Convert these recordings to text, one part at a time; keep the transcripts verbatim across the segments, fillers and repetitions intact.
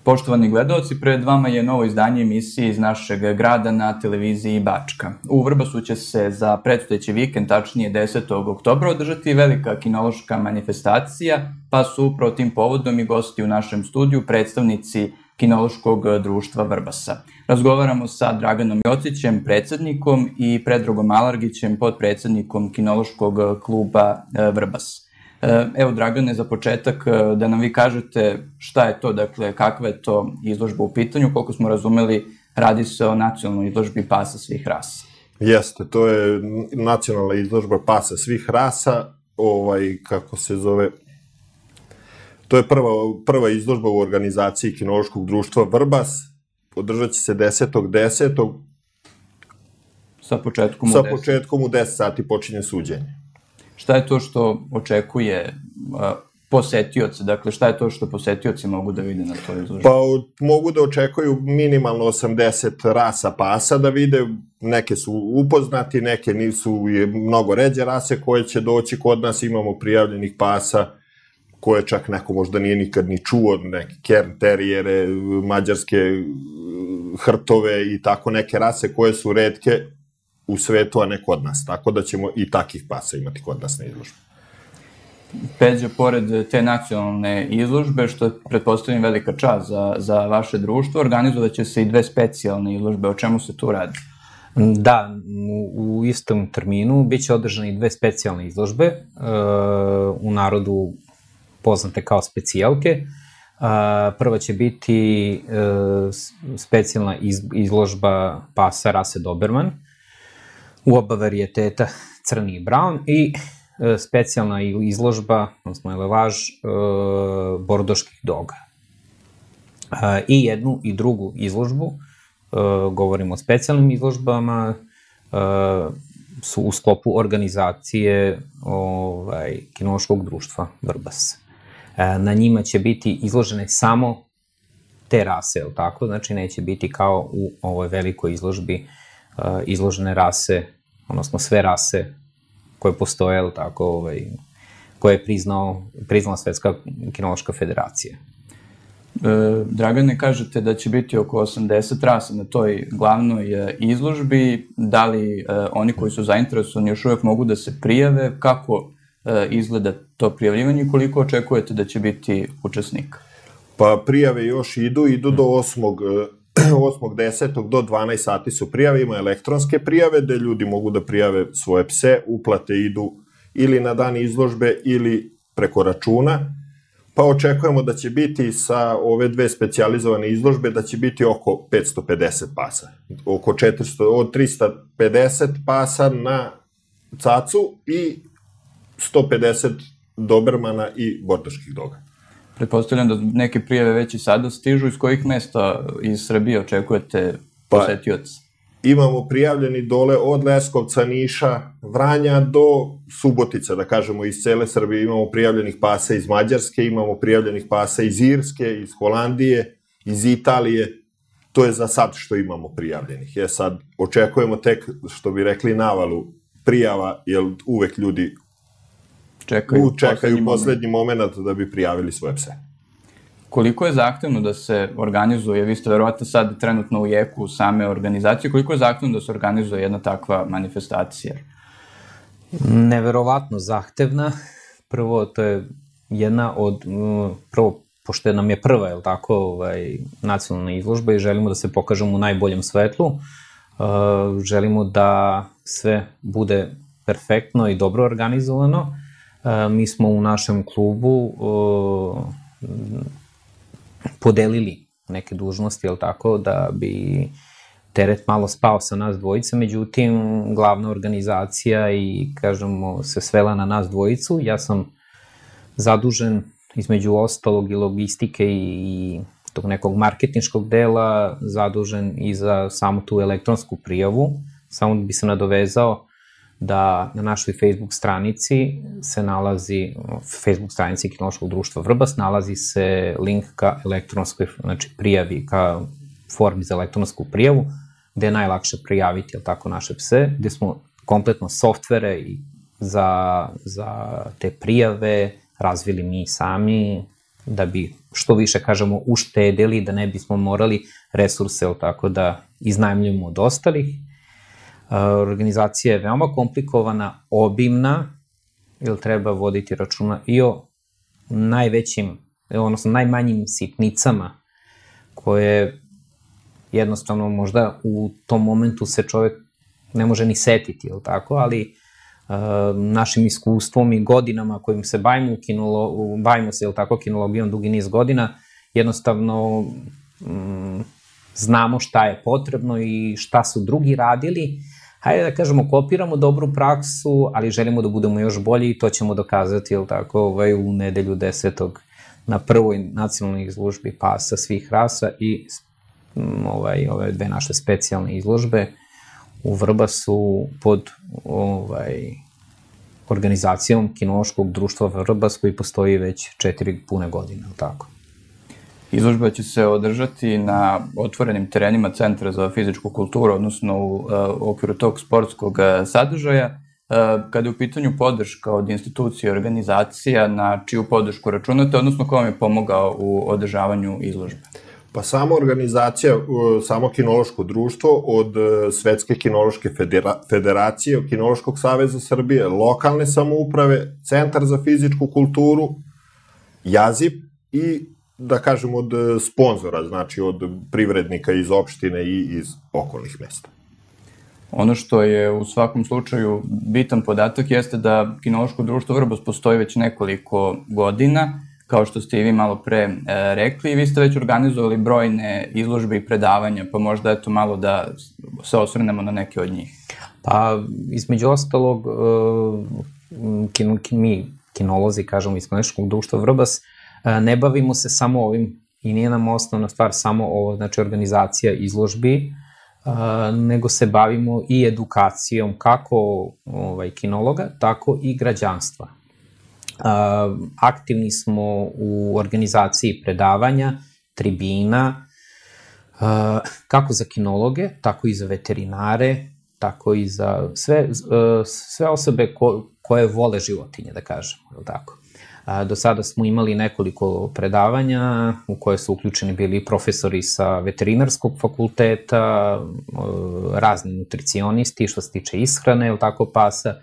Poštovani gledalci, pred vama je novo izdanje emisije iz našeg grada na televiziji Bačka. U Vrbasu će se za predstojeći vikend, tačnije desetog oktobra, održati velika kinološka manifestacija, pa su upravo tim povodom i gosti u našem studiju predstavnici Kinološkog društva Vrbasa. Razgovaramo sa Draganom Jocićem, predsednikom, i Predragom Alargićem, podpredsednikom Kinološkog kluba Vrbas. Evo, Dragane, za početak da nam vi kažete šta je to, dakle, kakva je to izložba u pitanju. Koliko smo razumeli, radi se o nacionalnoj izložbi pasa svih rasa. Jeste, to je nacionalna izložba pasa svih rasa, ovaj, kako se zove, to je prva izložba u organizaciji Kinološkog društva Vrbas, održat će se desetog desetog Sa početkom u deset. Sa početkom u deset sati počinje suđenje. Šta je to što očekuje posetioce? Dakle, šta je to što posetioci mogu da vide na toj izložbi? Pa mogu da očekuju minimalno osamdeset rasa pasa da vide. Neke su upoznati, neke nisu, mnogo ređe rase koje će doći kod nas. Imamo prijavljenih pasa koje čak neko možda nije nikad ni čuo, neke kern terijere, mađarske hrtove i tako neke rase koje su retke u svetu, a ne kod nas. Tako da ćemo i takih pasa imati kod nas na izložbi. Peđa, pored te nacionalne izložbe, što je, pretpostavljam, velika čast za vaše društvo, organizovat će se i dve specijalne izložbe. O čemu se tu radi? Da, u istom terminu biće održane i dve specijalne izložbe, u narodu poznate kao specijalke. Prva će biti specijalna izložba pasa rase Doberman, u oba varijeteta crni i brown, i specijalna izložba, odnosno elevaž, bordoških doga. I jednu i drugu izložbu, govorimo o specijalnim izložbama, su u sklopu organizacije Kinološkog društva Vrbas. Na njima će biti izložene samo te rase, je li tako? Znači, neće biti kao u ovoj velikoj izložbi izložene rase, odnosno sve rase koje postoje, je li tako, koje je priznala Svetska kinološka federacija. Dragane, kažete da će biti oko osamdeset rasa na toj glavnoj izložbi. Da li oni koji su zainteresovani još uvek mogu da se prijave? Kako izgleda to prijavljivanje i koliko očekujete da će biti učesnika? Pa prijave još idu, idu do osmog desetog do dvanaest sati su prijave, ima elektronske prijave gde ljudi mogu da prijave svoje pse, uplate idu ili na dan izložbe ili preko računa, pa očekujemo da će biti sa ove dve specijalizovane izložbe da će biti oko petsto pedeset pasa, oko četiristo, od trista pedeset pasa na cacu i sto pedeset dobermana i bordoških doga. Pretpostavljam da neke prijave već i sada stižu. Iz kojih mesta iz Srbije očekujete posetioce? Imamo prijavljeni dole od Leskovca, Niša, Vranja do Subotica, da kažemo, iz cele Srbije. Imamo prijavljenih pasa iz Mađarske, imamo prijavljenih pasa iz Irske, iz Holandije, iz Italije. To je za sad što imamo prijavljenih. Je sad, očekujemo tek, što bi rekli, navalu prijava, jer uvek ljudi čekaju poslednji moment da bi prijavili svoje pse. Koliko je zahtevno da se organizuje, vi ste verovatno sad trenutno u jeku same organizacije, koliko je zahtevno da se organizuje jedna takva manifestacija? Neverovatno zahtevna. Prvo, to je jedna od, prvo, pošto nam je prva, je li tako, nacionalna izložba i želimo da se pokažemo u najboljem svetlu, želimo da sve bude perfektno i dobro organizovano. Mi smo u našem klubu podelili neke dužnosti, jel tako, da bi teret malo spao sa nas dvojice, međutim, glavna organizacija i, kažemo, se svela na nas dvojicu. Ja sam zadužen, između ostalog, i logistike i tog nekog marketinškog dela, zadužen i za samu tu elektronsku prijavu. Samo bi se nadovezao da na našoj Facebook stranici se nalazi, Facebook stranici Kinološkog društva Vrbas, nalazi se link ka elektronskoj, znači prijavi, ka formi za elektronsku prijavu, gde je najlakše prijaviti, jel tako, naše pse, gde smo kompletno softvere za te prijave razvili mi sami, da bi što više, kažemo, uštedili, da ne bismo morali resurse, tako da iznajmljujemo od ostalih. Organizacija je veoma komplikovana, obimna, jer treba voditi računa i o najvećim, odnosno najmanjim sitnicama, koje jednostavno možda u tom momentu se čovek ne može ni setiti, jel tako, ali našim iskustvom i godinama kojim se bavimo, bavimo se, jel tako, kinologijom dugi niz godina, jednostavno znamo šta je potrebno i šta su drugi radili. Hajde da kažemo, kopiramo dobru praksu, ali želimo da budemo još bolji i to ćemo dokazati, jel tako, u nedelju desetog na prvoj nacionalnoj izložbi pasa svih rasa i ove dve naše specijalne izložbe u Vrbasu pod organizacijom Kinološkog društva Vrbas, koji postoji već četiri pune godine, jel tako? Izložba će se održati na otvorenim terenima Centra za fizičku kulturu, odnosno u okviru tog sportskog sadržaja. Kada je u pitanju podrška od institucije i organizacija, na čiju podršku računate, odnosno ko vam je pomogao u održavanju izložbe? Pa sama organizacija, samo Kinološko društvo od Svetske kinološke federacije, od Kinološkog saveza Srbije, lokalne samouprave, Centar za fizičku kulturu, Jazip i, da kažem, od sponzora, znači od privrednika iz opštine i iz okolnih mesta. Ono što je u svakom slučaju bitan podatak jeste da Kinološko društvo Vrbas postoji već nekoliko godina, kao što ste i vi malo pre rekli, i vi ste već organizovali brojne izložbe i predavanja, pa možda eto malo da se osvrnemo na neke od njih. Pa, između ostalog, mi, kinolozi, kažemo, iz Kinološkog društva Vrbas, ne bavimo se samo ovim i nije nam osnovna stvar samo ovo, znači organizacija izložbi, nego se bavimo i edukacijom kako kinologa, tako i građanstva. Aktivni smo u organizaciji predavanja, tribina, kako za kinologe, tako i za veterinare, tako i za sve osobe koje vole životinje, da kažemo, je li tako? Do sada smo imali nekoliko predavanja u koje su uključeni bili profesori sa veterinarskog fakulteta, razni nutricionisti što se tiče ishrane, je li tako, pasa,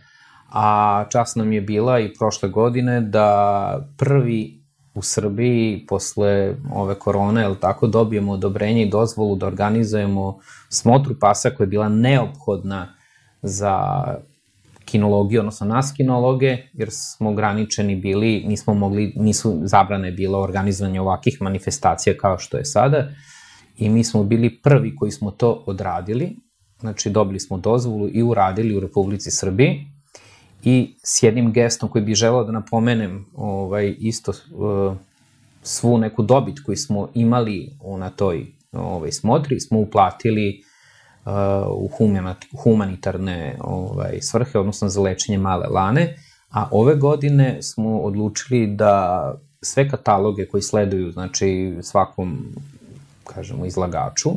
a čast nam je bila i prošle godine da prvi u Srbiji posle ove korone, je li tako, dobijemo odobrenje i dozvolu da organizujemo smotru pasa koja je bila neophodna za kinologiju, odnosno nas kinologe, jer smo ograničeni bili, nismo mogli, nisu zabrane bilo organizovanje ovakih manifestacija kao što je sada, i mi smo bili prvi koji smo to odradili, znači dobili smo dozvolu i uradili u Republici Srbiji, i s jednim gestom koji bih želeo da napomenem isto svu neku dobit koju smo imali na toj smotri, smo uplatili u humanitarne svrhe, odnosno za lečenje male lane, a ove godine smo odlučili da sve kataloge koji sleduju, znači svakom, kažemo, izlagaču,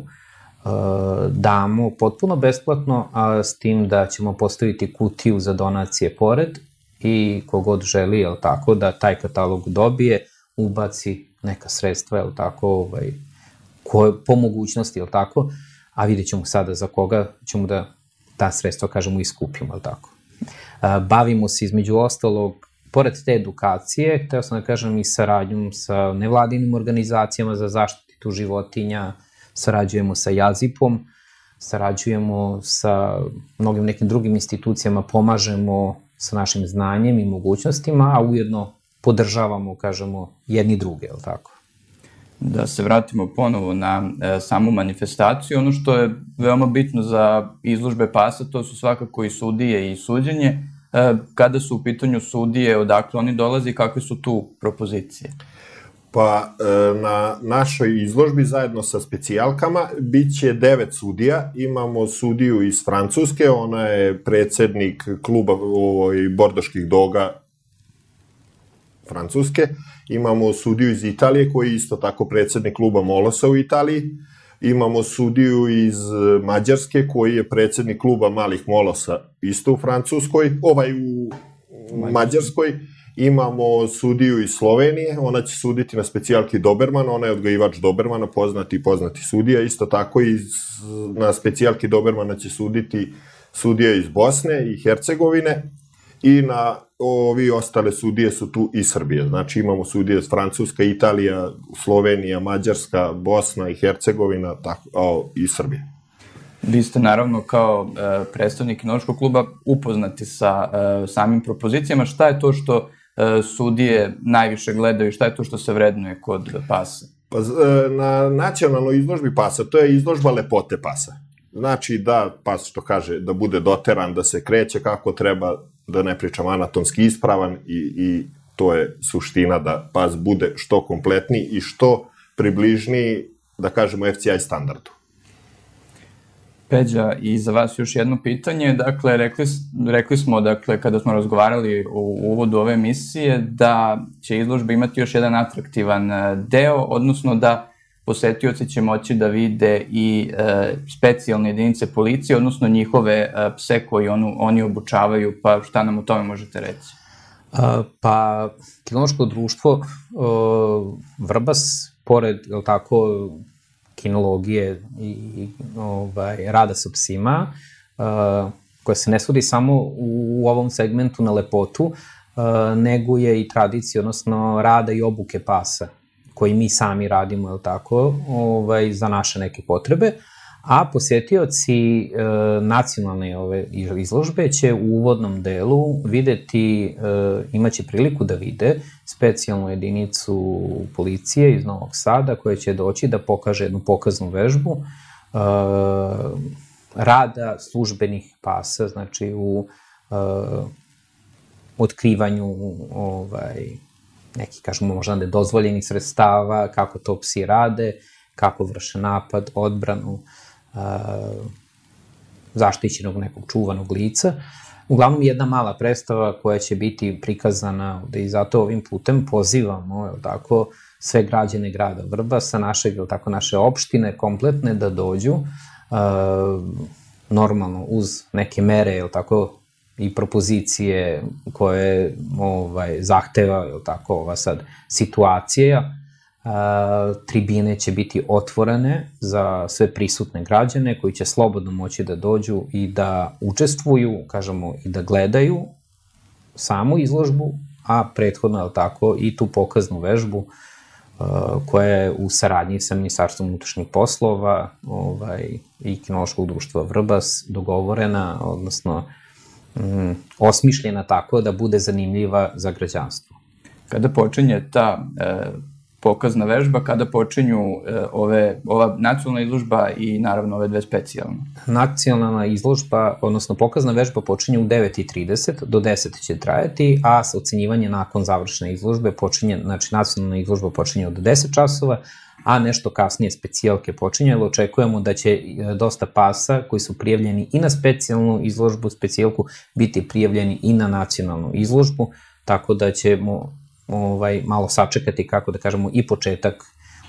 damo potpuno besplatno, a s tim da ćemo postaviti kutiju za donacije pored i kogod želi, jel tako, da taj katalog dobije, ubaci neka sredstva, jel tako, po mogućnosti, jel tako, a vidjet ćemo sada za koga ćemo da ta sredstva, kažemo, iskupimo, jel tako. Bavimo se između ostalog, pored te edukacije, hteo sam da kažem, i saradnjom sa nevladinim organizacijama za zaštitu životinja, sarađujemo sa Jazipom, sarađujemo sa mnogim nekim drugim institucijama, pomažemo sa našim znanjem i mogućnostima, a ujedno podržavamo, kažemo, jedni druge, je li tako? Da se vratimo ponovo na samu manifestaciju, ono što je veoma bitno za izložbe pasa, to su svakako i sudije i suđenje. Kada su u pitanju sudije, odakle oni dolaze i kakve su tu propozicije? Pa na našoj izložbi zajedno sa specijalkama bit će devet sudija. Imamo sudiju iz Francuske, ona je predsednik kluba bordoških doga Francuske. Imamo sudiju iz Italije koji je isto tako predsednik kluba Molosa u Italiji. Imamo sudiju iz Mađarske koji je predsednik kluba malih Molosa isto u Francuskoj, ovaj u Mađarskoj. Imamo sudiju iz Slovenije, ona će suditi na specijalki Doberman, ona je odgajivač Dobermana, poznati i poznati sudija. Isto tako i na specijalki Dobermana će suditi sudija iz Bosne i Hercegovine i na ovi ostale sudije su tu i Srbije. Znači imamo sudije iz Francuska, Italija, Slovenija, Mađarska, Bosna i Hercegovina tako, o, i Srbije. Vi ste naravno kao e, predstavnik kinološkog kluba upoznati sa e, samim propozicijama. Šta je to što e, sudije najviše gledaju i šta je to što se vrednuje kod pasa? Pa, e, na nacionalnoj izložbi pasa, to je izložba lepote pasa. Znači da pas, što kaže, da bude doteran, da se kreće kako treba, da ne pričam anatomski ispravan i, i to je suština da pas bude što kompletniji i što približniji, da kažemo, F C I standardu. Peđa, i za vas još jedno pitanje. Dakle, rekli, rekli smo, dakle, kada smo razgovarali u uvodu ove emisije, da će izložba imati još jedan atraktivan deo, odnosno da posetioci će moći da vide i e, specijalne jedinice policije, odnosno njihove e, pse koji onu, oni obučavaju, pa šta nam o tome možete reći? A, pa, kinološko društvo o, Vrbas, pored, je li tako, kinologije i, i ovaj, rada sa psima, a, koja se ne svodi samo u, u ovom segmentu na lepotu, a, nego je i tradicija, odnosno rada i obuke pasa, koji mi sami radimo, je li tako, ovaj, za naše neke potrebe, a posetioci e, nacionalne ove izložbe će u uvodnom delu videti, e, imaće priliku da vide specijalnu jedinicu policije iz Novog Sada koja će doći da pokaže jednu pokaznu vežbu e, rada službenih pasa, znači u e, otkrivanju ovaj, neki, kažemo, možda nedozvoljenih sredstava, kako to psi rade, kako vrše napad, odbranu, zaštićenog nekog čuvanog lica. Uglavnom, jedna mala predstava koja će biti prikazana ovde i zato ovim putem pozivamo, je tako, sve građane grada Vrbasa, našeg, je tako, naše opštine kompletne da dođu, normalno uz neke mere, je tako, i propozicije koje ovaj, zahteva, je tako, ova sad situacija. A, tribine će biti otvorene za sve prisutne građane koji će slobodno moći da dođu i da učestvuju, kažemo, i da gledaju samu izložbu, a prethodno, je tako, i tu pokaznu vežbu a, koja je u saradnji sa Ministarstvom unutrašnjih poslova ovaj, i Kinološkog društva Vrbas dogovorena, odnosno mm, osmišljena tako da bude zanimljiva za građanstvo. Kada počinje ta e, pokazna vežba, kada počinju e, ove, ova nacionalna izložba i naravno ove dve specijalne? Nacionalna izložba, odnosno pokazna vežba počinje u devet i trideset, do deset će trajati, a ocenjivanje nakon završene izložbe počinje, znači nacionalna izložba počinje od deset časova, a nešto kasnije specijalke počinje, jer očekujemo da će dosta pasa koji su prijavljeni i na specijalnu izložbu, specijalku, biti prijavljeni i na nacionalnu izložbu, tako da ćemo ovaj, malo sačekati, kako da kažemo, i početak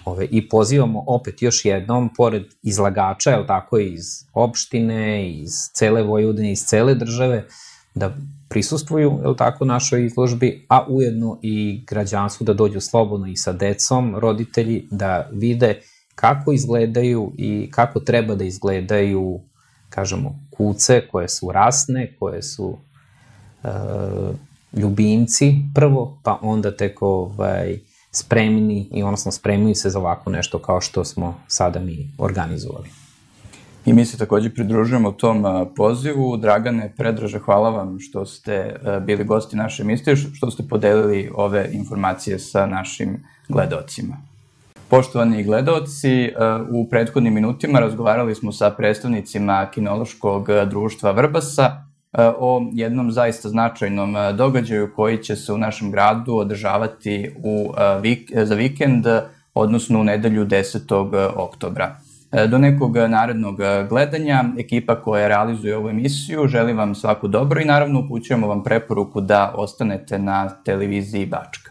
ove, i pozivamo opet još jednom, pored izlagača, je li tako, iz opštine, iz cele Vojvodine, iz cele države, da prisustvuju, je li tako, našoj izložbi, a ujedno i građanstvu da dođu slobodno i sa decom, roditelji, da vide kako izgledaju i kako treba da izgledaju, kažemo, kuce koje su rasne, koje su e, ljubimci prvo, pa onda tek ovaj, spremni i odnosno spremni se za ovako nešto kao što smo sada mi organizovali. I mi se takođe pridružujemo tom pozivu. Dragane, Predraže, hvala vam što ste bili gosti naše emisije, što ste podelili ove informacije sa našim gledaocima. Poštovani gledaoci, u prethodnim minutima razgovarali smo sa predstavnicima Kinološkog društva Vrbasa o jednom zaista značajnom događaju koji će se u našem gradu održavati u, za vikend, odnosno u nedelju desetog oktobra. Do nekog narednog gledanja, ekipa koja realizuje ovu emisiju želi vam svako dobro i naravno upućujemo vam preporuku da ostanete na televiziji Bačka.